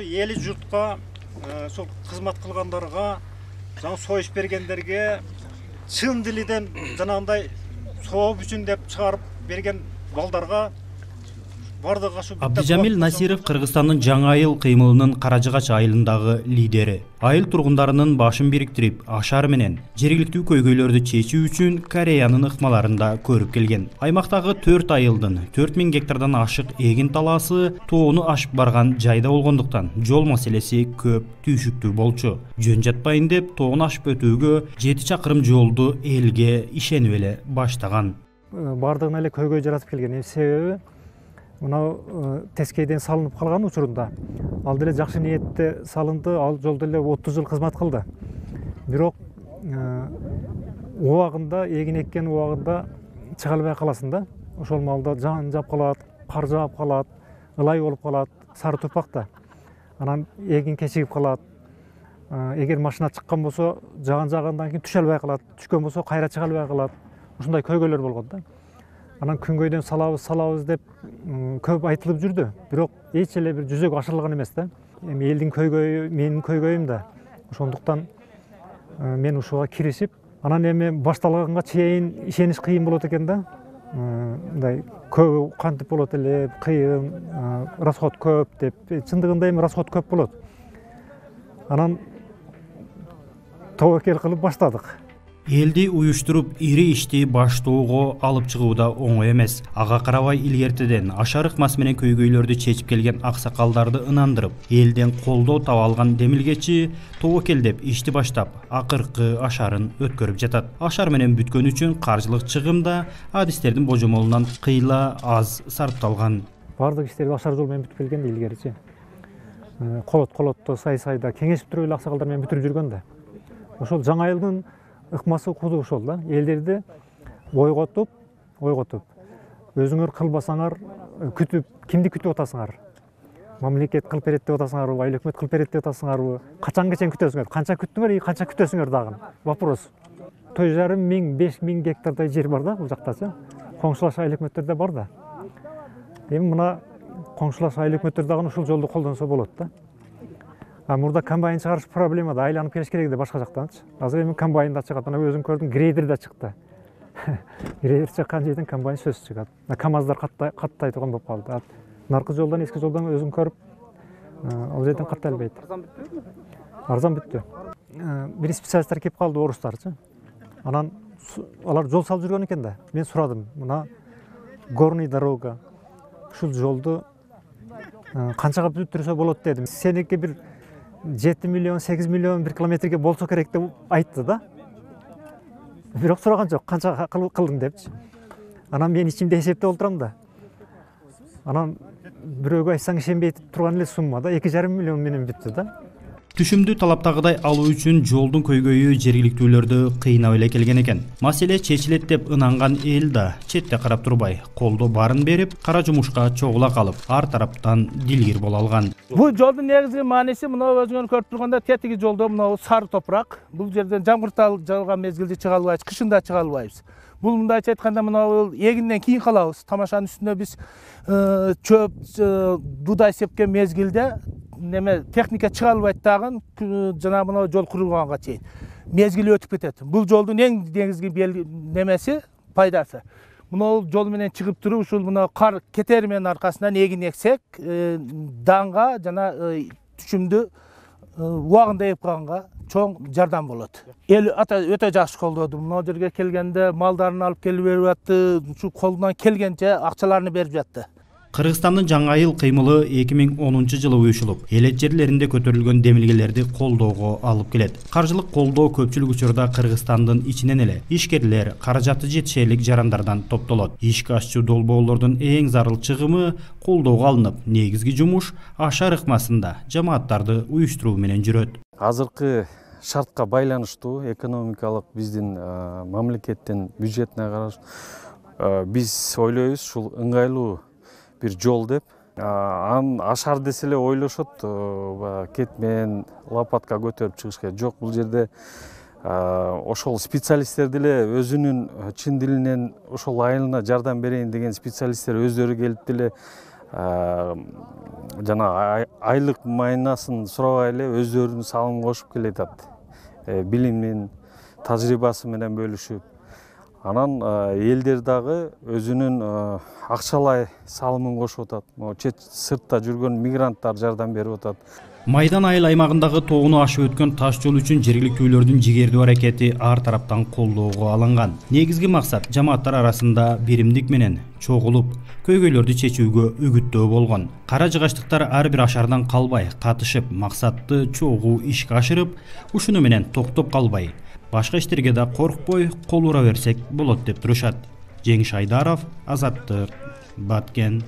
Эли журтка сол кызмат кылгандарга, жаңы союш бергендерге чын дилиден жанагындай сооп үчүн деп чыгарып берген балдарга бардыгы ашу. Абдижамил Насиров Кыргызстандын Жаңа айыл кыймылынын Каражыгач айылындагы лидери. Айыл тургундарынын башын бириктирип, ашар менен жергиликтүү көйгөйлөрдү чечүү үчүн Кореянын ыкмаларында көрүп келген. Аймактагы 4 айылдын 4000 гектардан ашык эгин талаасы тоону ашып барган жайда болгондуктан жол маселеси көп түйшүктүү болчу. Жөн жатпайын деп тоону ашып өтүүгө 7 чакырым жолду элге ишенип эле баштаган. Бардыгына эле көйгөй жаратып келген. Себеби мына тескейден салынып калган учурунда ал деле жакшы ниетте салынды, ал жол деле 30 жыл кызмат кылды. Бирок убагында эгин эккен убагында чыга албай каласың да. Ошол маалда жан жап калат, кар жаап калат, ылай болуп калат, сары тупакта. Анан эгин кечигип калат. Эгер машина чыккан болсо, жааган кийин түшө албай калат, түшкөн болсо кайра чыга албай калат. Ушундай көйгөйлөр болгон да. Анан күнгөйдөн салабыз деп көп айтылып жүрдү. Бирок эч эле бир жүзөгө ашырылган эмес да. Эми элдин көйгөйү менин көйгөйүм да. Ошондуктан мен ушуга киришип, анан эми башталганга чейин ишениш кыйын болот экен да. Мындай көп кантип болот эле, кыйын, расход көп деп. Чындыгында эми расход көп болот. Анан тобокел кылып баштадык. Элди уюштуруп ири ишти баштоого алып чыгуу да оңой эмес. Ага карабай илгертеден ашар ыкмасы менен көйгөйлөрдү чечип келген аксакалдарды ынандырып, элден колдоо таба алган демилгечи тобокел деп ишти баштап, акыркы ашарын өткөрүп жатат. Ашар менен бүткөн үчүн каржылык чыгым да адистердин божомолунан кыйла аз сарпталган. Бардык иштер ашар жол менен бүтүп келген илгеричи. Колотто, сай-сайда кеңешип туруп эле аксакалдар менен бүтүрүп жүргөн да. Ошол Жаңа айылдын ыкмасы куду ошол да. Элдерди ойготуп, өзүңөр кылбасаңар күтүп, кимди күтүп атасыңар? Мамлекет кылып берет деп атасыңарбы, айыл өкмөт кылып берет деп атасыңарбы? Качанга чейин күтөсүңөр? Канча күттүңөр, канча күтөсүңөр дагы? Вопрос. 3,5-5,000 гектардай жер бар да бул жактачы. Коңшулаш айыл өкмөттөрдө бар да. Эми мына коңшулаш айыл өкмөттөр дагы ушул жолду колдонсо болот да. Мурда комбайн чыгарыш проблема да, айланып келиш керек да башка жактанчы. Азыр эми комбайн да чыгат, ана өзүң көрдүң, грейдер да чыкты. Грейдер чыккан жерден комбайн сөзсүз чыгат. КамАЗдар каттай турган болуп калды. Наркы жолдон, эски жолдон өзүң көрүп, ал жерден каттай албайт. Арзан бүттү. Бир специалисттер келип калды, орустарчы. Анан алар жол салып жүргөн экен да. Мен сурадым, мына горный дорога, ушул жолду канчага бүтүрсө болот дедим. Сеники бир 7 миллион, 8 миллион bir километрге болсо керек деп айтты да. Бирок сураган жок, канча кылдың депчи. Анан мен ичимде эсептеп отурам да. Анан бирөөгө айтсаң ишенбей турган эле сумма да, 2,5 миллион менен бүттү да. Түшүмдү талаптагыдай алуу үчүн жолдун көйгөйү жергиликтүүлөрдү кыйнап эле келген экен. Маселе чечилет деп ынанган эл да четте карап турбай, колдоо барын берип, кара жумушка чогула калып, ар тараптан дилгир боло алган. Бул жолдун негизги мааниси мына өзүңөр көрүп турганда тетиги жолдо мына сары топурак. Бул жерден жамгыр жауган мезгилде чыга албайбыз, кышында чыга албайбыз. Бул мындайча айтканда мына эгинден кийин калабыз. Тамашанын үстүнө биз чөп, дудай сепкен мезгилде неме техника чыга албайт дагы, жана мына жол курулганга чейин мезгили өтүп кетет. Бул жолдун эң негизги немеси, пайдасы. Мына жол менен чыгып туруп, ушул мына кар кетери менен аркасынан эгин эксек, данга жана түшүмдү убагында эп калганга чоң жардам болот. Эл өтө жакшы колдоду. Мына жерге келгенде малдарын алып келип берип атты, ушу колунан келгенче акчаларын берип жатты. Кыргызстандын Жаңа айыл кыймылы 2010 жылы уюшулуп, элет жерлеринде көтөрүлгөн демилгелерди колдоого алып келет. Каржылык колдоо көпчүлүк учурда Кыргызстандын ичинен эле ишкерлер, каражаты жетишерлик жарандардан топтолот. Ишке ашчу долбоорлордун эң зарыл чыгымы колдоого алынып, негизги жумуш ашар ыкмасында жамааттарды уюштуруу менен жүрөт. Азыркы шартка байланыштуу экономикалык биздин мамлекеттин бюджетине караш биз ойлойбуз ушул ыңгайлуу бир жол деп. Ашар десе эле ойлошот, кет менен лопатка көтөрүп чыгыш керек. Жок, бул жерде ошол специалисттер деле өзүнүн чын дилинен ошол айылына жардам берейин деген специалисттер өздөрү келип деле жана айлык майнасын сурабай эле өздөрүнүн салымын кошуп келатат, билимин, тажрыйбасы менен бөлүшүп. Анан элдер дагы өзүнүн акчалай салымын кошуп атат. Могу чет сыртта жүргөн мигранттар жардам берип атат. Майдан айыл аймагындагы тоону ашып өткөн таш жол үчүн жергиликтүүлөрдүн жигердүү аракети ар тараптан колдоого алынган. Негизги максат жамааттар арасында биримдик менен чогулуп, көйгөйлөрдү чечүүгө үгүттөө болгон. Кара жыгачтыктар ар бир ашардан калбай катышып, максатты чогуу ишке ашырып, ушуну менен токтоп калбай, башка иштерге да коркпой кол ура берсек болот деп турушат. Жеңиш Айдаров, Азаттык, Баткен.